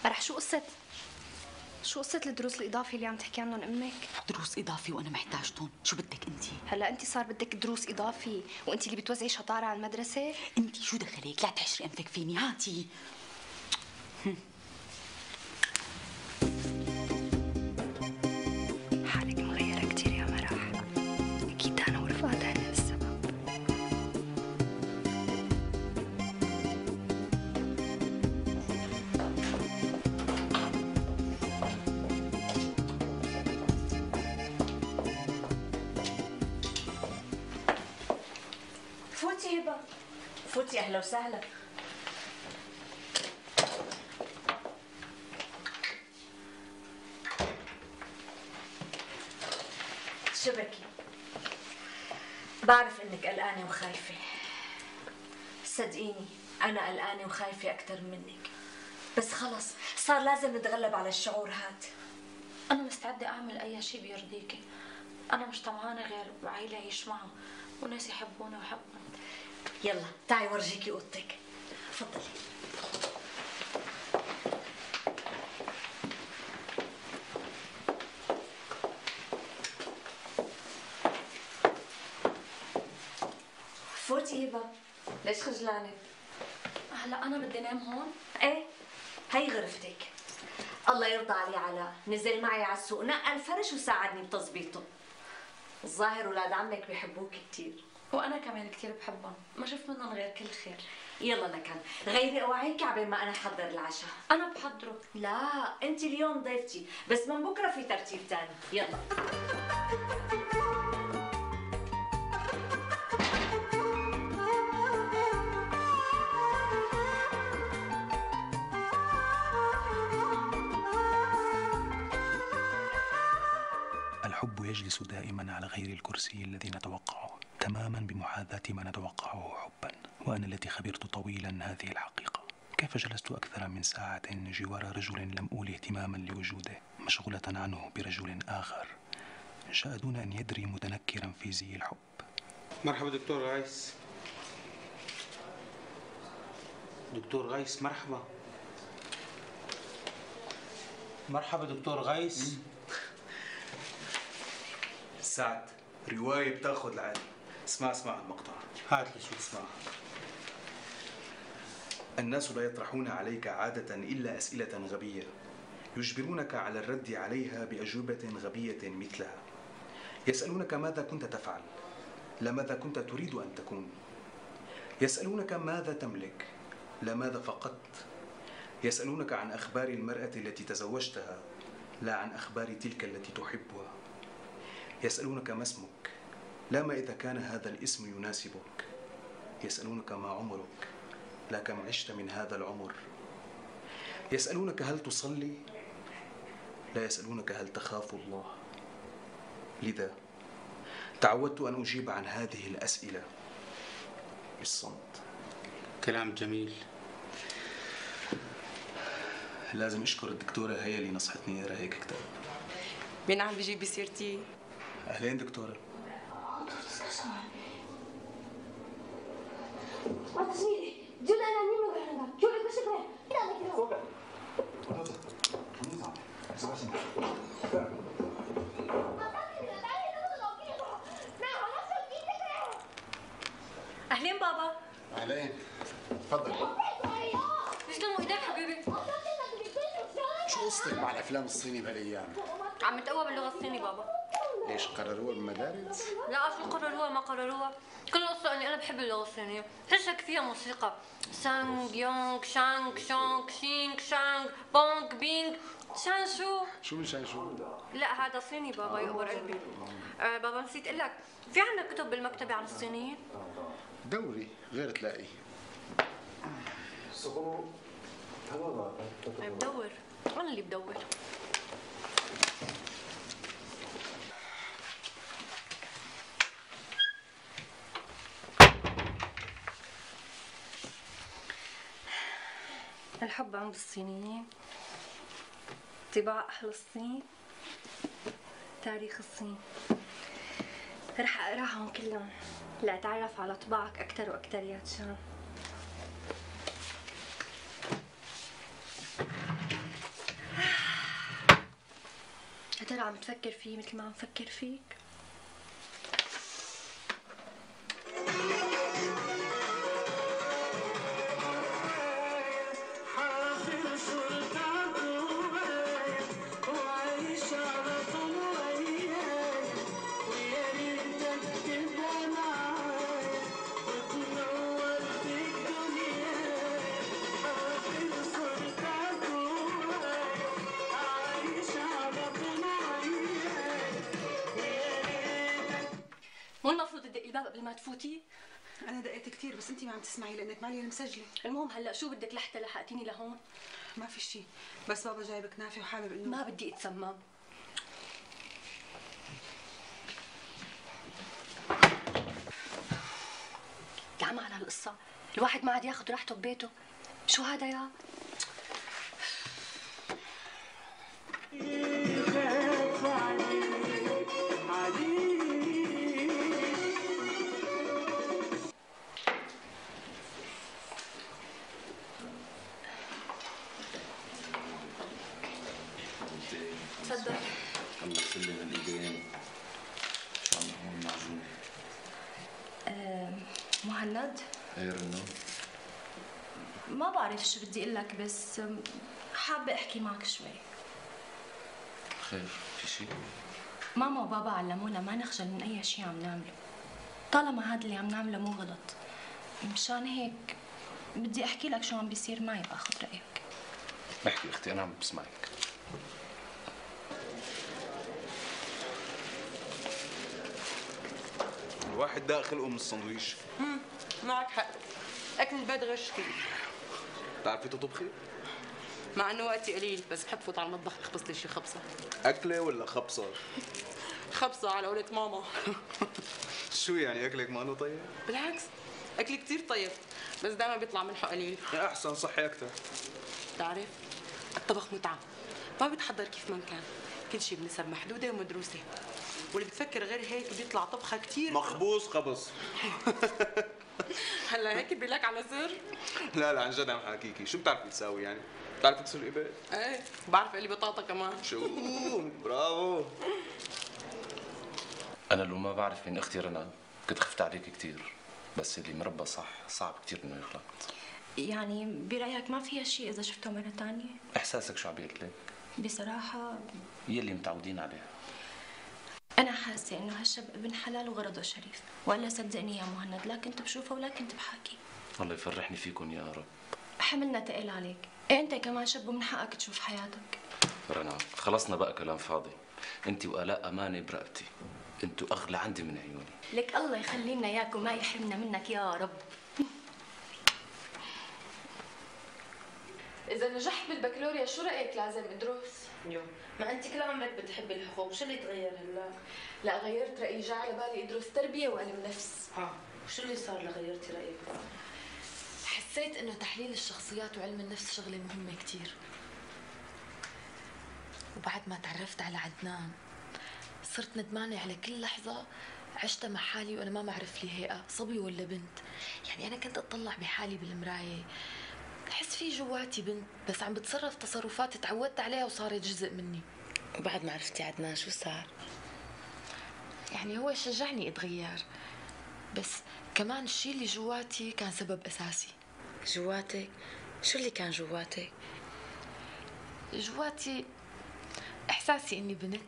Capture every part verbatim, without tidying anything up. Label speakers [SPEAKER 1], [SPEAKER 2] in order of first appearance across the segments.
[SPEAKER 1] مرح شو قصة شو قصة الدروس الإضافية اللي عم تحكي عنهم أمك؟
[SPEAKER 2] دروس إضافي وأنا محتاجتهم، شو بدك أنت؟
[SPEAKER 1] هلا أنت صار بدك دروس إضافي وأنت اللي بتوزعي شطارة على المدرسة؟
[SPEAKER 2] أنت شو دخلك؟ لا تحشري أنفك فيني، هاتي.
[SPEAKER 1] حالك مغيرة كتير يا مرح، أكيد أنا ورفقات هن السبب.
[SPEAKER 3] فوتي هبة، فوتي. أهلا وسهلا. شبكي، بعرف إنك قلقانة وخايفة. صدقيني أنا قلقانة وخايفة أكتر منك، بس خلص صار لازم نتغلب على الشعور هاد.
[SPEAKER 4] أنا مستعدة أعمل أي شيء بيرضيكي. أنا مش طمعانة غير بعيلة أعيش معها وناس يحبوني ويحبوني.
[SPEAKER 3] يلا تعي ورجيكي أوضتك، تفضلي. فوتي هبة، ليش خجلانة؟
[SPEAKER 4] هلا أنا بدي نام هون؟
[SPEAKER 3] ايه، هي غرفتك. الله يرضى علي علاء، نزل معي على السوق نقل فرش وساعدني بتظبيطه. الظاهر ولاد عمك بيحبوك كثير.
[SPEAKER 4] وأنا كمان كثير بحبهم، ما شفت منهم غير كل خير.
[SPEAKER 3] يلا لكن غيري اوعيك عبين ما انا احضر العشاء.
[SPEAKER 4] أنا بحضره.
[SPEAKER 3] لا انت اليوم ضيفتي، بس من بكره في ترتيب ثاني. يلا.
[SPEAKER 5] الحب يجلس دائما على غير الكرسي الذي نتوقعه، تماما بمحاذاة ما نتوقعه حبا. وأنا التي خبرت طويلا هذه الحقيقة. كيف جلست أكثر من ساعة جوار رجل لم أولي اهتماما لوجوده، مشغولة عنه برجل آخر جاء دون أن يدري، متنكرا في زي الحب.
[SPEAKER 6] مرحبا دكتور غايس. دكتور غايس مرحبا. مرحبا دكتور غايس.
[SPEAKER 7] سعد، رواية بتاخذ العالي. اسمع اسمع المقطع.
[SPEAKER 6] هات لي شو اسمع.
[SPEAKER 7] الناس لا يطرحون عليك عادة إلا أسئلة غبية يجبرونك على الرد عليها بأجوبة غبية مثلها. يسألونك ماذا كنت تفعل، لا ماذا كنت تريد أن تكون. يسألونك ماذا تملك، لا ماذا فقدت. يسألونك عن أخبار المرأة التي تزوجتها، لا عن أخبار تلك التي تحبها. يسألونك ما اسمك، لا ما إذا كان هذا الاسم يناسبك. يسألونك ما عمرك، لا كم عشت من هذا العمر. يسألونك هل تصلي، لا يسألونك هل تخاف الله. لذا تعودت أن أجيب عن هذه الأسئلة بالصمت.
[SPEAKER 6] كلام جميل.
[SPEAKER 7] لازم أشكر الدكتورة هي اللي نصحتني أقرأ هيك كتاب.
[SPEAKER 8] مين عم بيجيب بسيرتي؟
[SPEAKER 7] أهلين دكتورة.
[SPEAKER 3] اهلين بابا.
[SPEAKER 9] اهلين، تفضل.
[SPEAKER 4] يسلموا ايديك حبيبي.
[SPEAKER 9] شو قصتك مع الافلام الصيني بهالايام؟
[SPEAKER 4] عم نتقوى باللغة الصينية بابا.
[SPEAKER 9] ليش قرروها بالمدارس؟
[SPEAKER 4] لا شو قرروها ما قرروها، كل القصة اني انا بحب اللغة الصينية، حسك فيها موسيقى سانغ يونغ شانغ شونغ شينغ شانغ بونغ بينغ شان شو.
[SPEAKER 9] شو من شان شو؟
[SPEAKER 4] لا هذا صيني بابا يقبر قلبي. آه بابا نسيت اقول لك، في عندك كتب بالمكتبة عن الصينيين؟
[SPEAKER 9] دوري غير تلاقي.
[SPEAKER 4] بدور، انا اللي بدور. الحب عند الصينيين، طباع أهل الصين، تاريخ الصين. رح أقراهم كلهم لأتعرف على طباعك أكتر وأكتر يا تشان.
[SPEAKER 1] معقول عم تفكر فيه مثل ما عم فكر فيك؟
[SPEAKER 4] مو المفروض تدقي الباب قبل ما تفوتي؟
[SPEAKER 10] انا دقيت كثير بس انت ما عم تسمعي لانك معلي المسجله.
[SPEAKER 4] المهم هلا شو بدك لحتى لحقتيني لهون؟
[SPEAKER 10] ما في شيء، بس بابا جايب كنافه وحابب انه
[SPEAKER 4] ما بدي اتسمم. العمى على هالقصة، الواحد ما عاد ياخذ راحته ببيته. شو هذا يا؟ تفضل.
[SPEAKER 11] الله يسلم الايدين. شو عم هون معجون؟
[SPEAKER 1] أه مهند؟
[SPEAKER 11] ايه رنو؟
[SPEAKER 1] ما بعرف شو بدي اقول لك بس حابة احكي معك شوي.
[SPEAKER 11] خير، في شيء؟
[SPEAKER 1] ماما وبابا علمونا ما نخجل من اي شيء عم نعمله، طالما هذا اللي عم نعمله مو غلط. مشان هيك بدي احكي لك شو عم بيصير معي باخذ رايك.
[SPEAKER 11] احكي اختي، انا عم بسمعك.
[SPEAKER 7] الواحد داق خلقه من السندويش.
[SPEAKER 8] امم معك حق، اكل البيت غير شكل.
[SPEAKER 7] بتعرفي تطبخي؟
[SPEAKER 8] مع انه وقتي قليل بس بحب فوت على المطبخ اخبص لي شي خبصه.
[SPEAKER 7] اكله ولا خبصه؟
[SPEAKER 8] خبصه على قولة ماما.
[SPEAKER 7] شو يعني اكلك ما انه طيب؟
[SPEAKER 8] بالعكس اكلي كثير طيب بس دائما بيطلع ملحه قليل.
[SPEAKER 7] احسن صحي اكثر.
[SPEAKER 8] بتعرف الطبخ متعه، ما بيتحضر كيف ما كان، كل شيء بنسب محدوده ومدروسه، واللي بتفكر غير هيك بيطلع طبخه كثير
[SPEAKER 7] مخبوص خبص.
[SPEAKER 8] هلا هيك بيقول على سر؟
[SPEAKER 7] لا لا عن جد عم حاكيكي، شو بتعرفي تساوي يعني؟ بتعرفي تسلقي بيض؟
[SPEAKER 8] ايه بعرف اقلي بطاطا كمان.
[SPEAKER 7] شو برافو.
[SPEAKER 11] انا لو ما بعرف مين اختي رنا كنت خفت عليك كثير، بس اللي مربى صح صعب كثير انه يغلط.
[SPEAKER 1] يعني برايك ما فيها شيء اذا شفته مره ثانيه؟
[SPEAKER 11] احساسك شو عم بيقول لك؟
[SPEAKER 1] بصراحه
[SPEAKER 11] يلي متعودين عليه.
[SPEAKER 1] انا حاسه انه هالشاب ابن حلال وغرضه شريف، ولا صدقني يا مهند لا كنت بشوفه ولا كنت بحاكي.
[SPEAKER 11] الله يفرحني فيكم يا رب.
[SPEAKER 1] حملنا تقل عليك، إيه انت كمان شاب ومن حقك تشوف حياتك.
[SPEAKER 11] رنا خلصنا بقى كلام فاضي، انت وآلاء امانه برقبتي، انتوا اغلى عندي من عيوني.
[SPEAKER 1] لك الله يخلي لنا اياك وما يحرمنا منك يا رب.
[SPEAKER 12] إذا نجحت بالبكالوريا شو رأيك لازم أدرس؟
[SPEAKER 8] يو
[SPEAKER 12] ما أنت كل عمرك بتحبي الحقوق، شو اللي تغير هلا؟ لا غيرت رأيي، جا على بالي أدرس تربية وعلم نفس.
[SPEAKER 8] اه وشو اللي صار لغيرتي رأيك بقى؟
[SPEAKER 12] حسيت إنه تحليل الشخصيات وعلم النفس شغلة مهمة كتير. وبعد ما تعرفت على عدنان صرت ندمانة على كل لحظة عشتها مع حالي وأنا ما بعرف لي هيئة صبي ولا بنت. يعني أنا كنت أطلع بحالي بالمراية بحس في جواتي بنت بس عم بتصرف تصرفات تعودت عليها وصارت جزء مني.
[SPEAKER 8] وبعد ما عرفتي عدنان شو صار؟
[SPEAKER 12] يعني هو شجعني اتغير بس كمان الشيء اللي جواتي كان سبب اساسي.
[SPEAKER 8] جواتك؟ شو اللي كان جواتك؟
[SPEAKER 12] جواتي احساسي اني بنت.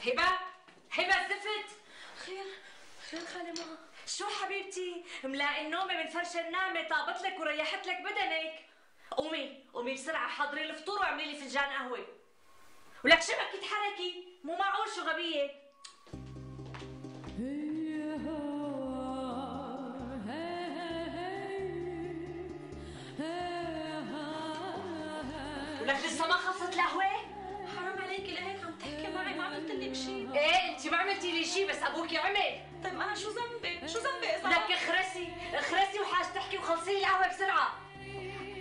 [SPEAKER 3] هبة هبة زفت.
[SPEAKER 1] خير خير خالي ماما.
[SPEAKER 3] شو حبيبتي ملاقي النومه من فرش النامه طابت لك وريحت لك بدنك. قومي قومي بسرعه حضري الفطور واعملي لي فنجان قهوه. ولك شبك تتحركي مو معقول شو غبيه. شيء بس ابوكي عمل.
[SPEAKER 10] طيب انا شو ذنبي؟ شو ذنبي اذا
[SPEAKER 3] لك اخرسي اخرسي وحاج تحكي وخلصي لي القهوه بسرعه.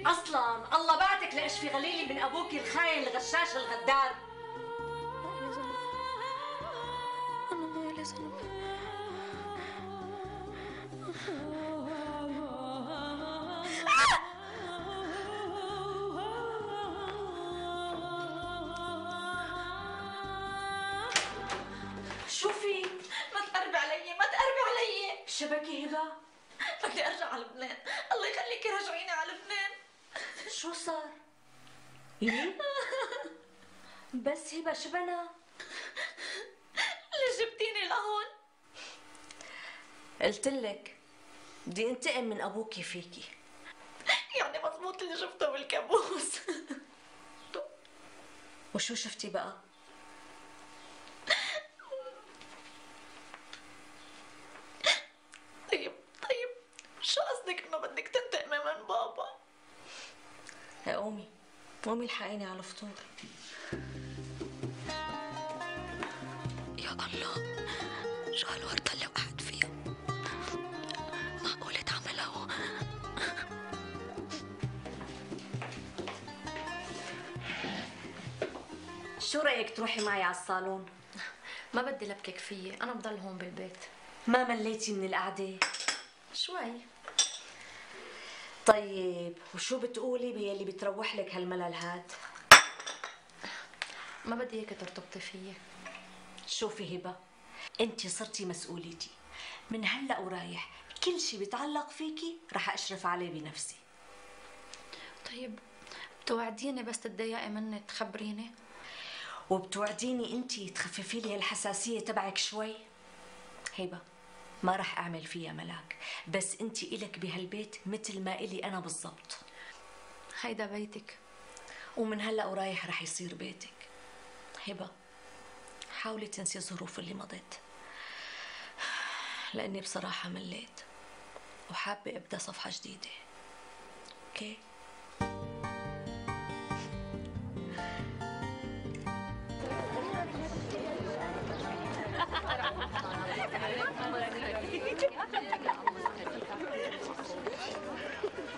[SPEAKER 3] اصلا الله بعتك لاشفي غليلي من ابوكي الخاين الغشاش الغدار.
[SPEAKER 1] انا ما لي ذنب.
[SPEAKER 3] شو في؟
[SPEAKER 10] ما تقربي علي، ما تقربي علي.
[SPEAKER 3] شبكي هبه؟
[SPEAKER 10] بدي ارجع على لبنان، الله يخليكي رجعيني على لبنان.
[SPEAKER 3] شو صار؟ ايه؟ بس هبه شو بنا؟
[SPEAKER 10] ليش جبتيني لهون؟
[SPEAKER 3] قلت لك بدي انتقم من ابوكي فيكي.
[SPEAKER 10] يعني مضبوط اللي شفته بالكابوس.
[SPEAKER 3] وشو شفتي بقى؟
[SPEAKER 10] طيب طيب شو قصدك انه بدك تنتقمي من بابا؟
[SPEAKER 3] يا قومي قومي الحقيني على الفطور.
[SPEAKER 12] يا الله، شو هالورطة اللي وقعت فيها؟ معقولة تعملها؟
[SPEAKER 3] شو رأيك تروحي معي على الصالون؟
[SPEAKER 1] ما بدي لبكك فيي، انا بضل هون بالبيت.
[SPEAKER 3] ما مليتي من القعدة؟
[SPEAKER 1] شوي.
[SPEAKER 3] طيب وشو بتقولي بيلي بتروح لك هالملل هاد؟
[SPEAKER 1] ما بدي اياك ترتبطي فيي.
[SPEAKER 3] شوفي هبة، انتي صرتي مسؤوليتي، من هلأ ورايح كل شي بيتعلق فيكي رح اشرف عليه بنفسي.
[SPEAKER 1] طيب بتوعديني بس تتضايقي مني تخبريني؟
[SPEAKER 3] وبتوعديني انتي تخففي لي الحساسية تبعك شوي؟ هبة ما رح اعمل فيها ملاك، بس انتي الك بهالبيت مثل ما الي انا بالضبط.
[SPEAKER 1] هيدا بيتك،
[SPEAKER 3] ومن هلأ ورايح رح يصير بيتك. هبة حاولي تنسي الظروف اللي مضت، لاني بصراحة مليت وحابة ابدا صفحة جديدة. اوكي؟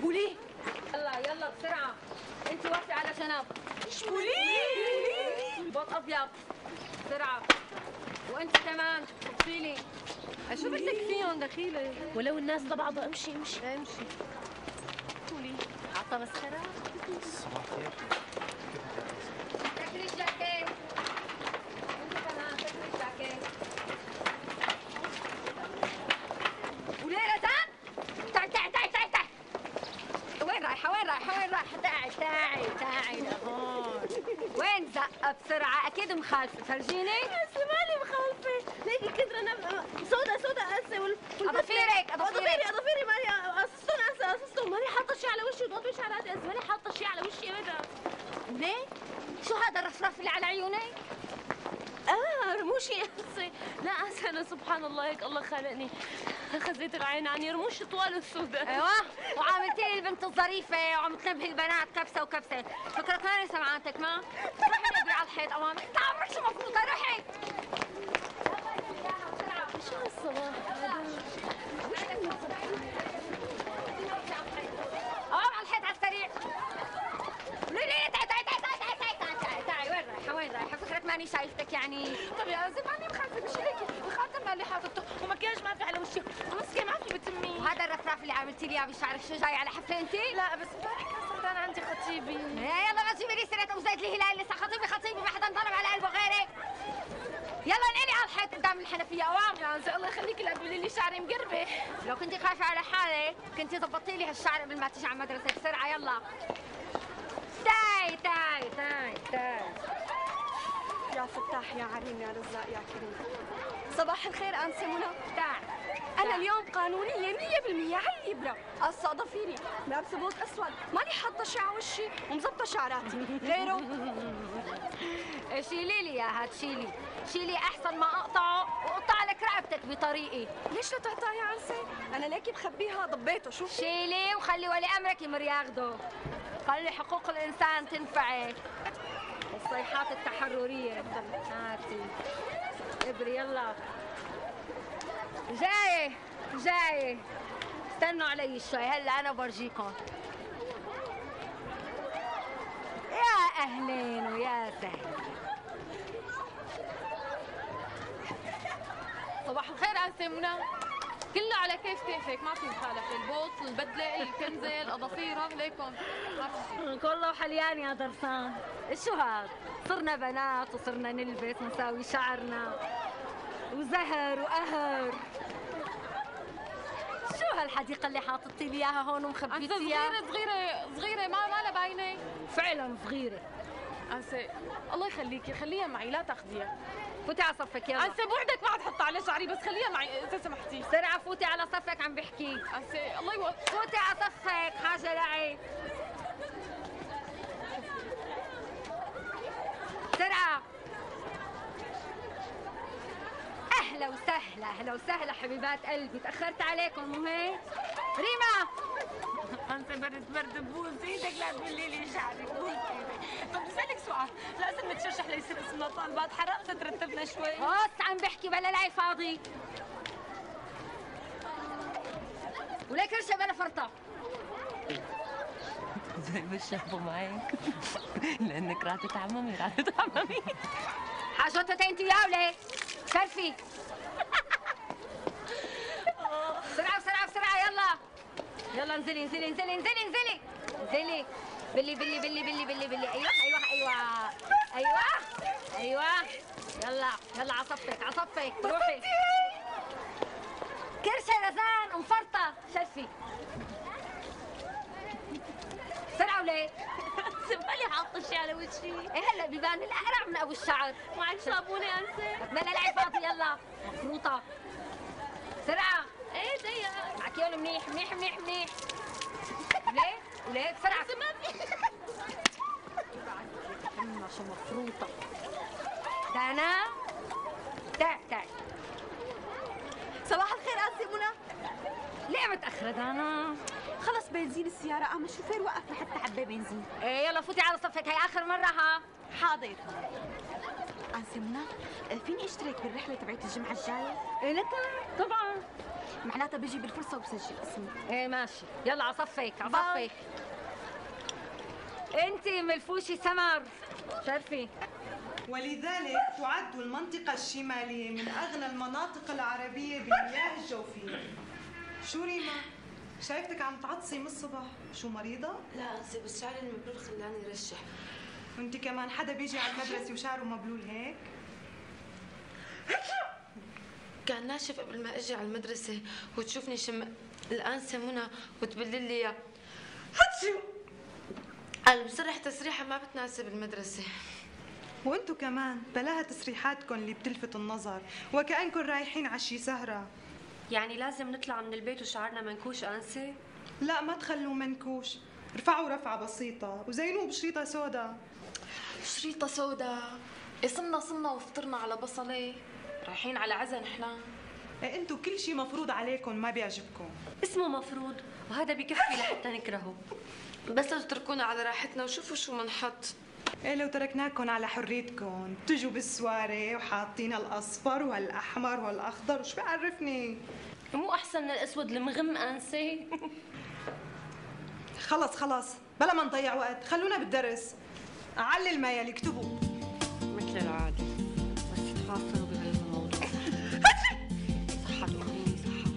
[SPEAKER 4] بولي يلا يلا بسرعة، انت وقفي على جنب.
[SPEAKER 10] بولي
[SPEAKER 4] بوط ابيض بسرعة، وانت كمان خبصي لي. شو بدك فيهم دخيلة؟
[SPEAKER 1] ولو الناس لبعضها امشي امشي
[SPEAKER 4] امشي. بولي عطا مسخرة.
[SPEAKER 5] صباح الخير.
[SPEAKER 4] تكري الجاكيت. انت كمان تكري الجاكيت. بولي رزان تعي تعي تعي تعي تعي. وين رايحة وين رايحة وين رايحة؟ تعي تعي تعي لهون. وين زقة بسرعة؟ أكيد مخالفة، فرجيني.
[SPEAKER 10] هسه مالي مخالفة، ليكي كدر انا سودا سودا هسه وال
[SPEAKER 4] أضفيرك
[SPEAKER 10] اضافيري اضافيري ماني قصصتهم هسه قصصتهم، ماني حاطة شي على وشي وضغطي شعراتي هسه، ماني حاطة شي على وشي ابدا.
[SPEAKER 4] ليه؟ شو هذا الرفرف اللي على عيوني؟
[SPEAKER 10] اه رموشي هسه، لا هسه انا سبحان الله هيك الله خلقني خزيت العين عني رموشي طوال وسوداء.
[SPEAKER 4] ايوه وعاملتي لي البنت الظريفه وعم تنبهي البنات كبسه وكبسه، فكرك ماني سمعانتك ما؟ روحي نقري على الحيط امامك، انت عمرك شو مفروضه روحي.
[SPEAKER 10] شو هالصباح هذا؟
[SPEAKER 4] امام على الحيط على السريع. ليه تعي تعي تعي تعي تعي تعي تعي تعي وين رايحه وين رايحه؟ فكرك ماني شايفتك يعني؟
[SPEAKER 10] طب يا زلمه ماني مخالفة مش هيك، الخاتم مالي حاطته ومكياج ما في على وشي ومسكه ما في بتمي.
[SPEAKER 4] وهذا الرفراف اللي عملتي لي اياه بشعرك شو جاي على حفله انت؟
[SPEAKER 10] لا بس امبارح كان سردان عندي خطيبي.
[SPEAKER 4] ايه يلا ما تجيبي لي سيره ابو زيد الهلال، لسه خطيبي خطيبي ما حدا انضرب على قلبه غيرك. يلا انقلي على الحيط قدام الحنفيه اوام.
[SPEAKER 10] يا عزيزي الله يخليكي لا تقولي لي شعري مقربه.
[SPEAKER 4] لو كنتي خايفه على حالك كنتي ضبطتي لي هالشعر قبل ما تيجي على المدرسه. بسرعه يلا. تعي تعي تعي تعي.
[SPEAKER 10] يا فتاح يا عليم يا رزاق يا كريم. صباح الخير انسه منى.
[SPEAKER 4] تعي.
[SPEAKER 10] انا اليوم قانونيه مية بالمية على الابره، قصه ضفيري لابسه بوت اسود، ماني حاطه شي على وشي ومظبطه شعراتي غيره.
[SPEAKER 4] شيلي لي اياها تشيلي، شيلي احسن ما اقطعه واقطع لك رقبتك بطريقي.
[SPEAKER 10] ليش لا تقطعي يا عنسه؟ انا ليكي بخبيها ضبيته. شوف
[SPEAKER 4] شيلي وخلي ولي امرك يمر ياخده، خلي حقوق الانسان تنفعك. الصيحات التحرريه هاتي ابري يلا. جاي جاي استنوا علي شوي هلا انا برجيكم. يا اهلين ويا سهلين.
[SPEAKER 12] صباح الخير انسه منى. كله على كيف كيفك، ما في مخالفه، البوط، البدله، الكنزه، الاظافير، عليكم ما في.
[SPEAKER 4] كله حليان يا درسان. شو هاد؟ صرنا بنات وصرنا نلبس ونساوي شعرنا وزهر وقهر. شو هالحديقة اللي حاططي لي اياها هون ومخبيتيها؟
[SPEAKER 12] صغيرة صغيرة صغيرة ما ما لها باينة.
[SPEAKER 4] فعلا صغيرة.
[SPEAKER 12] أنسة الله يخليكي خليها معي لا تاخذيها.
[SPEAKER 4] فوتي على صفك يلا.
[SPEAKER 12] أنسة بوعدك ما عاد حط على شعري بس خليها معي إذا سمحتي.
[SPEAKER 4] بسرعة فوتي على صفك عم بحكي.
[SPEAKER 12] أنسة الله يوفقك.
[SPEAKER 4] فوتي على صفك حاجة لعي. بسرعة. أهلا وسهلا أهلا وسهلا حبيبات قلبي، تأخرت عليكم مو هيك؟ ريما
[SPEAKER 3] انت برد برد بوس ايدك لا تبلي لي شعري بوس ايدك. طب بسألك سؤال، لازم نتشرشح ليصير اسمنا طالبات، حرقت ترتبنا شوي.
[SPEAKER 4] بص عم بحكي بلا لعي فاضي. ولا كرشه بلا فرطه.
[SPEAKER 3] زي ما شافوا معك لانك راح تتعممي راح تتعممي.
[SPEAKER 4] حاجتها انت وياه ولا شرفي. بسرعة بسرعة بسرعة يلا يلا انزلي انزلي انزلي انزلي انزلي انزلي. بلي بلي بلي بلي بلي بلي ايوه ايوه ايوه ايوه ايوه يلا يلا على صفك على صفك روحي. كرشه رزان مفرطة شرفي. بسرعة وليه؟
[SPEAKER 3] سمالي حاطة الشي على وجهي.
[SPEAKER 4] ايه هلا بيبان القرع من ابو الشعر.
[SPEAKER 3] معك صابونة انسة؟
[SPEAKER 4] بلا لعب فاضي يلا مفروطة. بسرعة.
[SPEAKER 3] ايه ضيق.
[SPEAKER 4] معك يون منيح منيح منيح منيح. وليه؟ وليه بسرعة.
[SPEAKER 3] ما في.
[SPEAKER 4] أما شو مفروطة. دانا تعي تعي.
[SPEAKER 10] صباح الخير انسه منى.
[SPEAKER 4] ليه متأخرة دانا؟
[SPEAKER 10] خلص بنزين السيارة قام الشوفير وقف لحتى عبي بنزين.
[SPEAKER 4] ايه يلا فوتي على صفك هي آخر مرة ها.
[SPEAKER 10] حاضر. انسه منى فيني اشترك بالرحلة تبعت الجمعة الجاية؟
[SPEAKER 4] ايه لك طبعا.
[SPEAKER 10] معناتها بيجي بالفرصة وبسجل اسمي.
[SPEAKER 4] ايه ماشي يلا على صفك على صفك. انتي ملفوشي سمر شرفي.
[SPEAKER 13] ولذلك تعد المنطقة الشمالية من أغنى المناطق العربية بالمياه الجوفية. شو ريما؟ شايفتك عم تعطسي من الصبح، شو مريضة؟
[SPEAKER 12] لا أنسة بس شعري المبلول خلاني رشح.
[SPEAKER 13] وانت كمان حدا بيجي على المدرسة وشعره مبلول هيك؟
[SPEAKER 12] كان ناشف قبل ما اجي على المدرسة وتشوفني شم الأنسة منى وتبلل لي اياه. هاتشو قال بصرح تسريحة ما بتناسب المدرسة.
[SPEAKER 13] وانتو كمان بلاها تسريحاتكم اللي بتلفت النظر وكأنكم رايحين على شي سهرة.
[SPEAKER 3] يعني لازم نطلع من البيت وشعرنا منكوش انسة؟
[SPEAKER 13] لا ما تخلوه منكوش، ارفعوا رفعة بسيطة وزينوه بشريطة سودا.
[SPEAKER 12] شريطة سودا؟ إيه صرنا صرنا وفطرنا على بصلة، رايحين على عزا نحنا.
[SPEAKER 13] ايه انتو كل شي مفروض عليكم ما بيعجبكم.
[SPEAKER 3] اسمه مفروض وهذا بكفي لحتى نكرهه.
[SPEAKER 12] بس لو تتركونا على راحتنا وشوفوا شو منحط.
[SPEAKER 13] ايه لو تركناكم على حريتكم تجوا بالسواري وحاطين هالاصفر وهالاحمر وهالاخضر وشو بيعرفني؟
[SPEAKER 3] مو احسن من الاسود المغم انسة؟
[SPEAKER 13] خلص خلص بلا ما نضيع وقت، خلونا بالدرس. اعلل ما يلي اكتبوا
[SPEAKER 3] مثل العادة بس تفاصلوا بهالموضوع. صحة تقوليني صحة.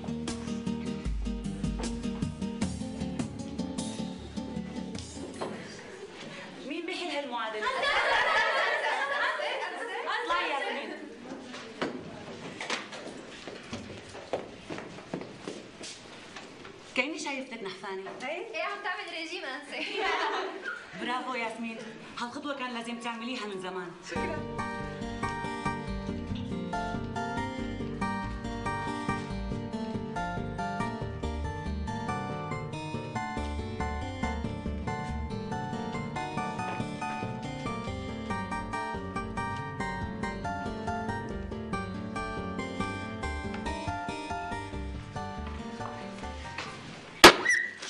[SPEAKER 2] مين بيحل هالمعادلة؟
[SPEAKER 3] اطلعي يا ياسمين.
[SPEAKER 2] كأني شايفتك نحفانة.
[SPEAKER 10] ايه عم تعمل ريجيم انسه.
[SPEAKER 2] برافو ياسمين، هالخطوة كان لازم تعمليها من زمان.
[SPEAKER 13] شكرا.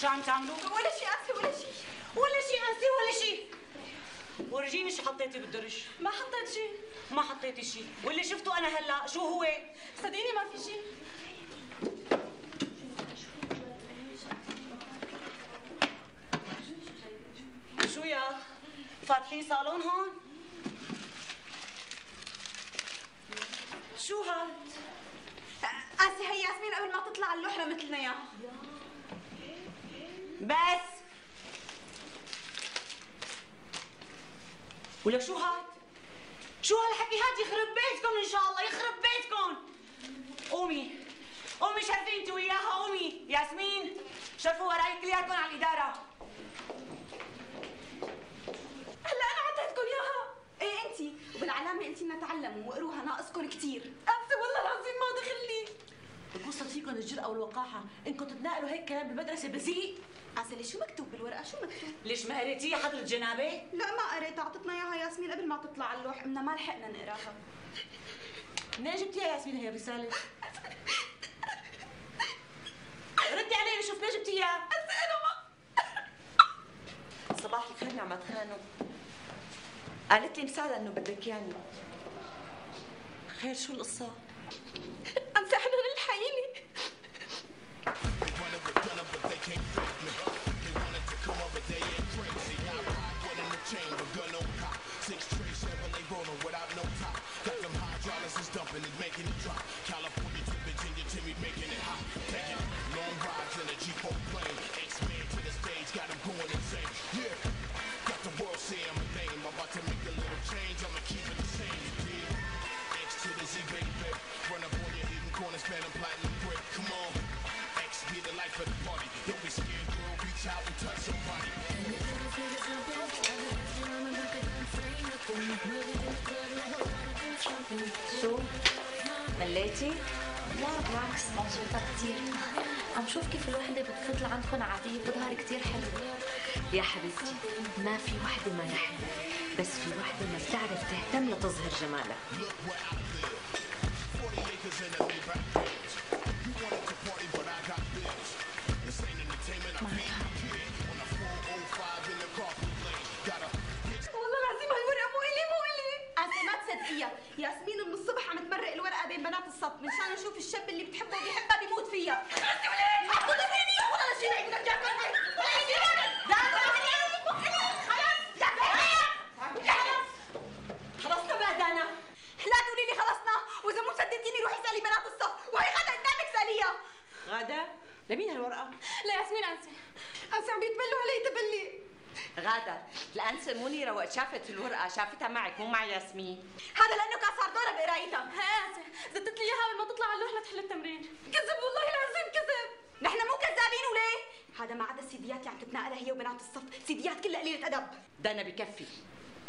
[SPEAKER 2] شو عم تعملوا؟
[SPEAKER 10] ولا شيء انسه ولا شيء.
[SPEAKER 2] ولا شيء انسي ولا شيء. ورجيني شو حطيتي بالدرج.
[SPEAKER 10] ما حطيت شيء.
[SPEAKER 2] ما حطيتي شيء، واللي شفته انا هلا شو هو؟
[SPEAKER 10] صدقيني ما في شيء.
[SPEAKER 2] شو يا فاتحين صالون هون؟ شو هاد؟
[SPEAKER 10] آسي هي ياسمين قبل ما تطلع على اللوحة مثلنا اياها.
[SPEAKER 2] بس ولا شو هاد؟ شو هالحكي هاد؟ يخرب بيتكم ان شاء الله، يخرب بيتكم. قومي قومي شرفي انت وياها، قومي ياسمين شرفوا وراي كلياتكم على الاداره.
[SPEAKER 10] هلا انا عطيتكم اياها. ايه انتي، وبالعلامة انتي بدنا تعلموا واقروها، ناقصكم كثير. انسي والله العظيم ما دخل لي.
[SPEAKER 3] بقصة فيكم الجرأة والوقاحة انكم تتناقلوا هيك كلام بالمدرسة بذيء.
[SPEAKER 10] عسلي شو مكتوب بالورقة؟ شو مكتوب؟
[SPEAKER 2] ليش ما قريتيها حضرة جنابه؟
[SPEAKER 10] لا ما قريتها، اعطتنا اياها ياسمين قبل ما تطلع على اللوح، بدنا ما لحقنا نقراها.
[SPEAKER 3] منين جبتيها يا ياسمين هي الرسالة؟ ردي علي شوف منين جبتيها؟
[SPEAKER 10] انا ما
[SPEAKER 3] صباح الخير نعمة خانم. قالت لي مساعدة انه بدك ياني. خير شو القصة؟
[SPEAKER 10] انسى حنان الحقيني.
[SPEAKER 3] شو؟ مليتي؟
[SPEAKER 14] لا بالعكس مبسوطة كثير. عم شوف كيف الوحدة بتفضل عندكم عادية بتظهر كثير حلوة.
[SPEAKER 3] يا حبيبتي ما في وحدة ما رح بس في وحدة ما بتعرف تهتم لتظهر جمالها.
[SPEAKER 10] والله العظيم هالورقة مو إلي مو إلي. آسي ما تصدقيها، ياسمين من الصبح عم تمرق الورقة بين بنات الصف مشان نشوف الشاب اللي بتحبه وبيحبها بيموت فيها. حطوا فيني ولا شيء بدك تعمل.
[SPEAKER 3] خلصنا بقى دانا.
[SPEAKER 10] لا تقولي لي خلصنا، واذا مو صدقتيني روحي اسالي بنات الصف، وهي غدا قدامك ساليها.
[SPEAKER 3] غادة لمين هالورقة؟
[SPEAKER 10] لا ياسمين انسي. انسي عم بيتبلوا علي تبلي.
[SPEAKER 3] غادة الأنسة منيرة وقت شافت الورقة شافتها معك مو مع ياسمين.
[SPEAKER 10] هذا لأنه كان صار دورها بقرايتها.
[SPEAKER 14] ها انسي زدت لي اياها قبل ما تطلع على اللوح لتحل التمرين.
[SPEAKER 10] كذب والله العظيم كذب. نحن مو كذابين وليه؟ هذا ما عدا السيديات اللي عم تتناقلها هي وبنات الصف، سيديات كلها قليلة أدب.
[SPEAKER 3] دانا بكفي.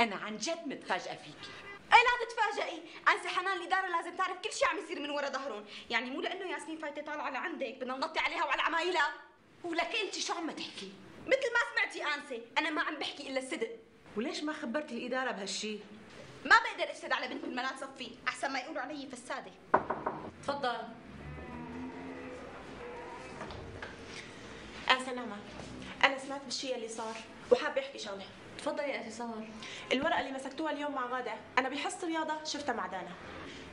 [SPEAKER 3] أنا عن جد متفاجئة فيكي.
[SPEAKER 10] ايه لا تتفاجئي، انسي حنان الاداره لازم تعرف كل شيء عم يصير من ورا ظهرهم، يعني مو لانه ياسمين فايته طالعه لعندك بدنا ننطي عليها وعلى عمايلها.
[SPEAKER 3] ولك انت شو عم تحكي؟
[SPEAKER 10] مثل ما سمعتي انسي، انا ما عم بحكي الا الصدق.
[SPEAKER 3] وليش ما خبرت الاداره بهالشيء؟
[SPEAKER 10] ما بقدر افسد على بنت من بنات صفي، احسن ما يقولوا علي فساده.
[SPEAKER 3] تفضل.
[SPEAKER 15] آسة نعمة، أنا سمعت بالشيء اللي صار وحابة أحكي شغلة.
[SPEAKER 14] تفضلي يا انتصار.
[SPEAKER 15] الورقة اللي مسكتوها اليوم مع غادة، أنا بحصة رياضة شفتها مع دانا.